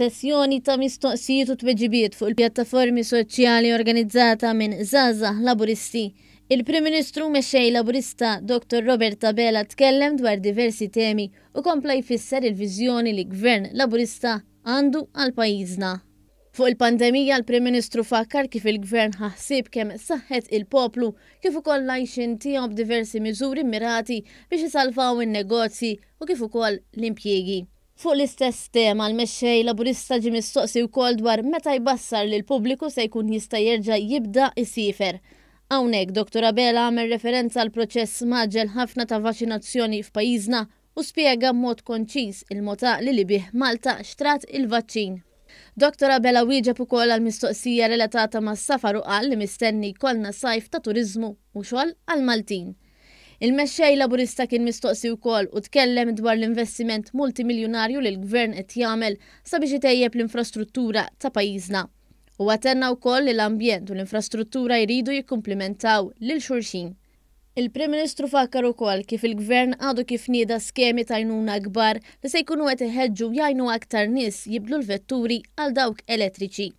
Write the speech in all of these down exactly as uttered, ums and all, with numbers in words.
F'sessjoni ta' mistoqsijiet u tweġibiet fuq il-pjattaformi soċjali organizzata minn Żgħażagħ Laburisti, il-Prim Ministru Mexxej Laburista Dottor Robert Abela tkellem dwar diversi temi u kompla jfisser il-viżjoni li Gvern Laburista għandu għal pajjiżna. Fuq il-pandemija, l-Prim Ministru fakkar kif il-Gvern ħa ħsieb kemm saħħet il-poplu kif ukoll l-għajxien tiegħu b'diversi miżuri mirati biex isalvaw in-negozji u kif ukoll l-impjiegi. Fuq l-istess tema, l-mexxej Laburista ġie mistoqsi wkoll dwar meta jbassar li l-pubbliku se jkun jista' jerġa' jibda jsiefer. Hawnhekk Dottor Abela għamel referenza għal proċess mgħaġġel ħafna ta' vaċinazzjoni f'pajjiżna u spjega b'mod konċiż il-mod għaqli li bih Malta xtrat il-vaċċin. Dottor Abela wieġeb ukoll għal mistoqsija relatata mas-safar u qal li mistenni jkollna sajf ta' turiżmu u xogħol għall-Maltin. Il-mexxej Laburista kien mistoqsi wkoll u tkellem dwar l-investiment multimiljunarju li l-Gvern qed jagħmel sabiex itejjeb l-infrastruttura ta' pajjiżna. Huwa tenna wkoll li l-ambjent u l-infrastruttura jridu jikkumplimentaw lil xulxin. Il-Prim Ministru fakkar ukoll kif il-Gvern għadu kif nieda skemi ta' għajnuna kbar li se jkunu qed iħeġġu jgħinu aktar nies jibdlu l-vetturi għal dawk elettriċi.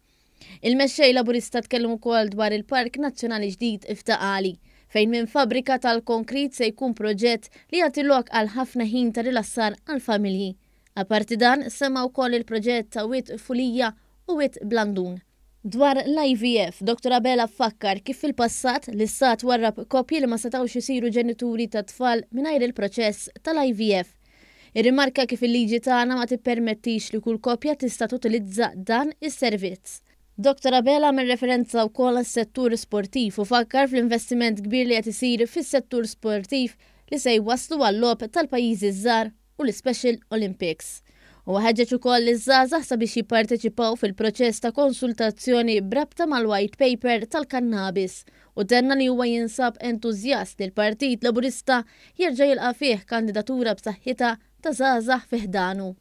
Il-mexxej Laburista tkellem ukoll dwar il-Park Nazzjonali ġdid f'Ta' Qali, fejn minn fabbrika tal-konkrit se jkun proġett li jagħti lok għal ħafna ħin ta' rilassar għall-familji. Aparti dan, semma wkoll il-proġett ta' Wied Fulija u Wied Blandun. Dwar l-I V F, Dottor Abela fakkar kif fil-passat l-istat warrab koppji li ma setgħux isiru ġenituri ta' tfal mingħajr il-proċess tal-I V F. Irrimarka kif il-liġi tagħna ma tippermettix li kull koppja tista' tutilizza dan is-servizz. Dottor Abela għamel referenza wkoll għas-settur sportiv u fakkar fl-investiment kbir li qed isir fis-settur sportiv li se jwasslu għal-logħob tal-pajjiżi żgħar u l-Special Olympics. U ħeġġeġ ukoll iż-żgħażagħ sabiex jipparteċipaw fil-proċess ta' konsultazzjoni b'rabta mal-white paper tal-kannabis u tenna li huwa jinsab entużjast li l-Partit Laburista jerġa' jilqa' fih kandidatura b'saħħitha ta' żgħażagħ fi ħdanu.